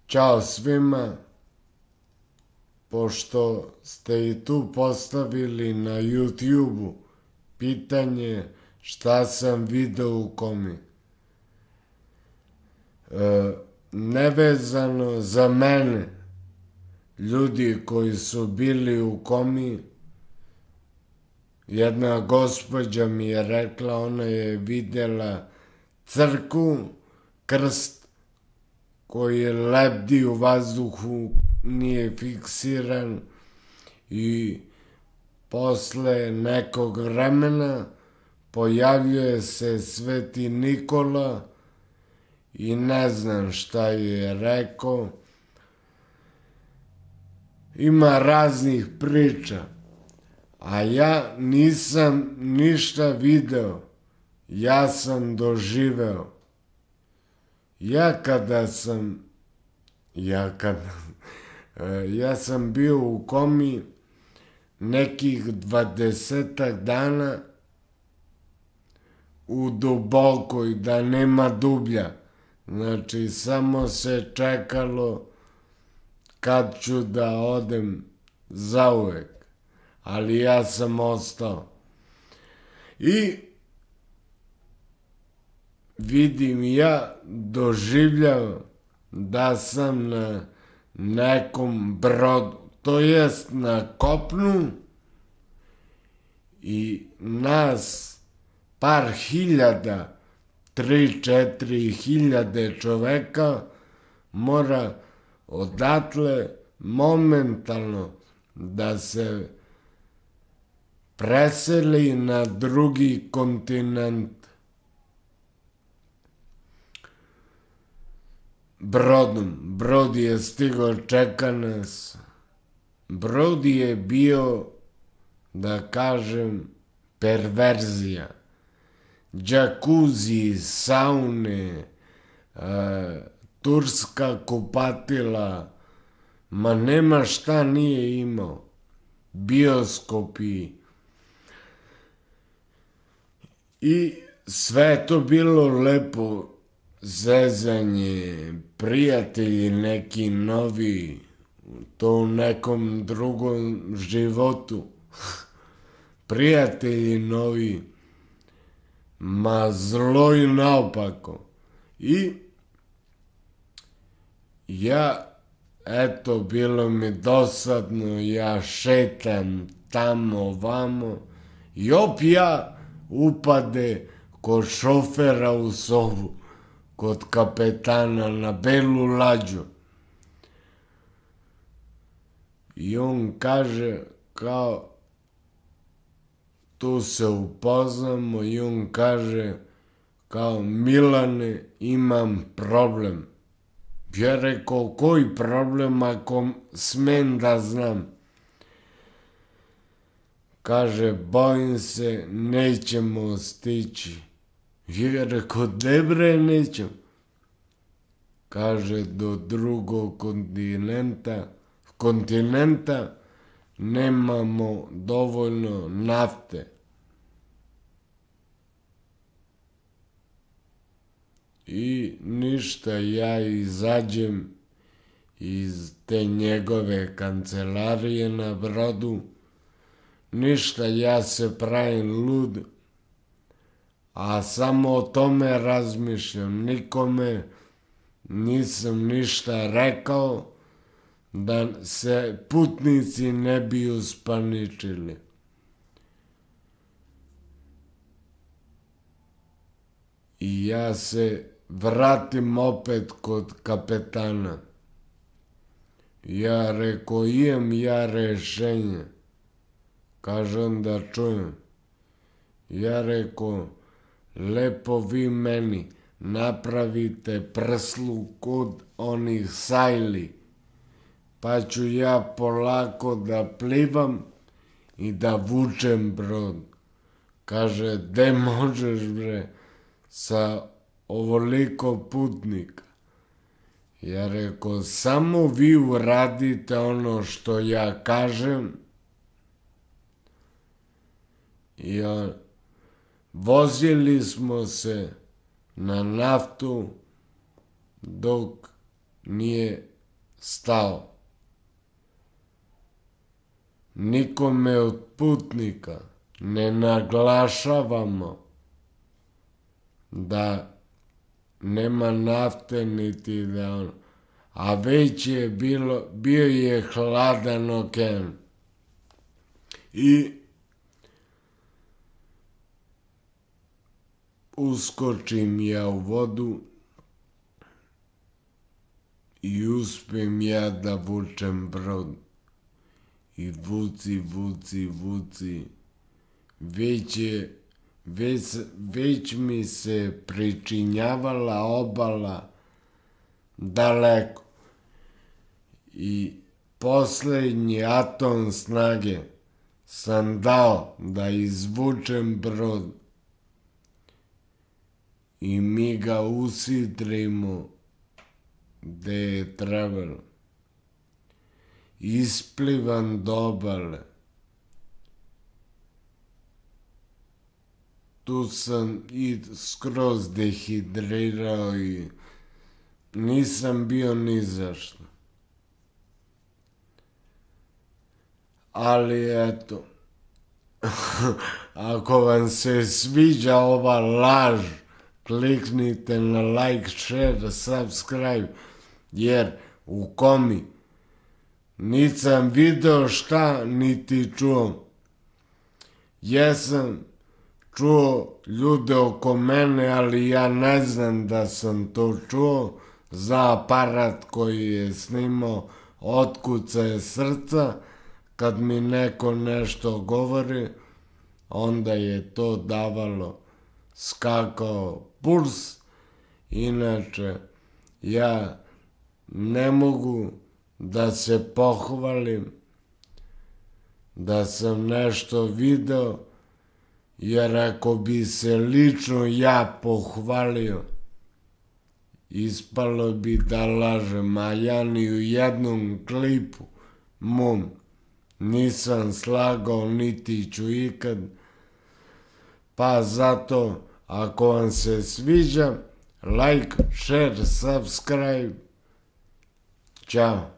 Ćao svima, pošto ste i tu postavili na YouTube-u pitanje šta sam video u komi. Nevezano za mene, ljudi koji su bili u komi, jedna gospođa mi je rekla, ona je videla crkvu, krst koji lebdi u vazduhu, nije fiksiran i posle nekog vremena pojavljuje se Sveti Nikola i ne znam šta je rekao. Ima raznih priča, a ja nisam ništa video, ja sam doživeo. Ja sam bio u komi nekih 20 dana u dubokoj, da nema dublja. Znači, samo se čekalo kad ću da odem zauvek. Ali ja sam ostao. I vidim ja, doživljavam da sam na nekom brodu, to jest na kopnu, i nas par hiljada, 3-4 hiljade čoveka mora odatle momentalno da se preseli na drugi kontinent brodom. Brod je stigao, čeka nas. Brod je bio, da kažem, perverzija. Džakuzi, saune, turska kupatila, ma nema šta nije imao. Bioskopi. I sve je to bilo lepo, zezanje, prijatelji neki novi, to u nekom drugom životu. Prijatelji novi, ma zlo i naopako. I ja, eto, bilo mi dosadno, ja šetam tamo, vamo, i ja upade kod šofera u sobu, kod kapetana na belu lađu. I on kaže, kao, tu se upoznamo, i on kaže, kao, Milane, imam problem. Ja rekao, koji problem ako smem da znam? Kaže, bojim se, nećemo stići. Ja rekao, debre, nećemo. Kaže, do drugog kontinenta nemamo dovoljno nafte. I ništa, ja izađem iz te njegove kancelarije na brodu, ništa, ja se pravim lud, a samo o tome razmišljam. Nikome nisam ništa rekao da se putnici ne bi uspaničili. I ja se vratim opet kod kapetana. Ja rekao, imam ja rešenje. Kaže on, da čujem. Ja rekao, lepo vi meni napravite prslu kod onih sajli, pa ću ja polako da plivam i da vučem brod. Kaže, de možeš bre sa ovoliko putnika? Ja rekao, samo vi uradite ono što ja kažem. I vozili smo se na naftu dok nije stao. Nikome od putnika ne naglašavamo da nema nafte niti da ono, a već je bio je hladan okean. I uskočim ja u vodu i uspem ja da vučem brod. I vuci. Već mi se pričinjavala obala daleko. I poslednji atom snage sam dao da izvučem brod. I mi ga usidrimo gde je trebalo. Isplivam do obale. Tu sam i skroz dehidrirao i nisam bio ni zašto. Ali eto, ako vam se sviđa ova laž, kliknite na like, share, subscribe, jer u komi nisam video šta niti čuo. Jesam čuo ljude oko mene, ali ja ne znam da sam to čuo. Za aparat koji je snimao otkucaje srca, kad mi neko nešto govori, onda je to davalo, skakao puls. Inače, ja ne mogu da se pohvalim da sam nešto video, jer ako bi se lično ja pohvalio, ispalo bi da lažem, a ja ni u jednom klipu mom nisam slagao, niti ću ikad. Pa zato, ako vam se sviđa, like, share, subscribe. Ćao.